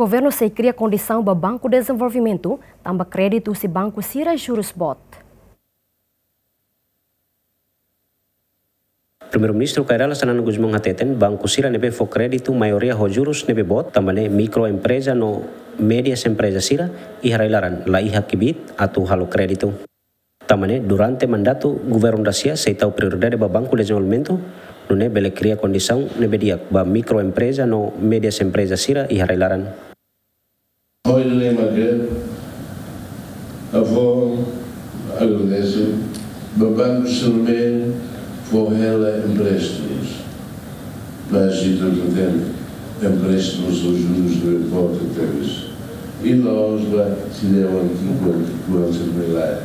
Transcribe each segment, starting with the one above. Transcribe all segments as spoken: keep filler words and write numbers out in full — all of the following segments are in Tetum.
Governu sei kria kondisaun ba Banku Dezenvolvimentu tanba kréditu husi banku sira jurus boot. Primeiru-Ministru Kay Rala Xanana Gusmão hateten, banku sira ne'ebé fó kréditu maioria ho jurus ne'ebé boot, tanba ne'e mikroempreza no médias empreza sira iha rai-laran la iha kbiit atu halo kréditu. Tanba ne'e durante mandatu governu dasia sei tau prioridade ba Banku Dezenvolvimentu, nune'e bele kria kondisaun ne'ebé di'ak ba mikroempreza no médias empreza sira iha rai-laran. Hodi lembra ke avó agradese ba banku sira ne'ebé fó hela empréstimos. Mas se tudo tem empréstimos, os juros de volta tebes. E nós lá se der um tipo de coisa me lá.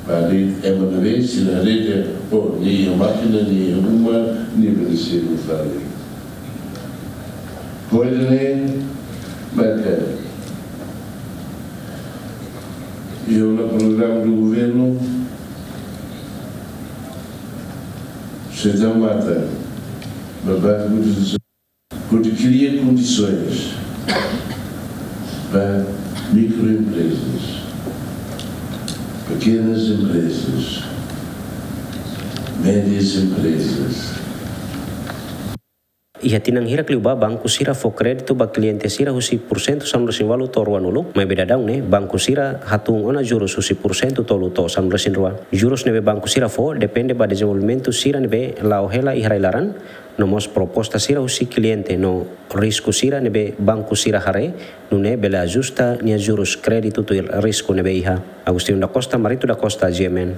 Para ali é uma vez, se na rede, ou nem a máquina, nem a uma, nem a medicina, sabe? Hodi lembra ke iha programa do governu, se dá mata, babá, hodi kria kondisaun ba mikroemprezas, pekenas emprezas, médias emprezas. Iha tinan hirak liubá banku sira fó kréditu ba kliente sira husi pursentu sanulu-resin-ualu to'o ruanulu, maibé daudaun ne'e banku sira hatún ona jurus husi pursentu tolu to'o sanulu-resin-rua. Jurus ne'ebé banku sira fó depende ba dezenvolvimentu sira ne'ebé la'o hela iha rai-laran, no mós proposta sira husi kliente no risku sira ne'ebé banku sira haree, nune'e bele ajusta nia jurus kréditu tuir risku ne'ebé iha. Agostinho da Costa, Marito da Costa, G M N.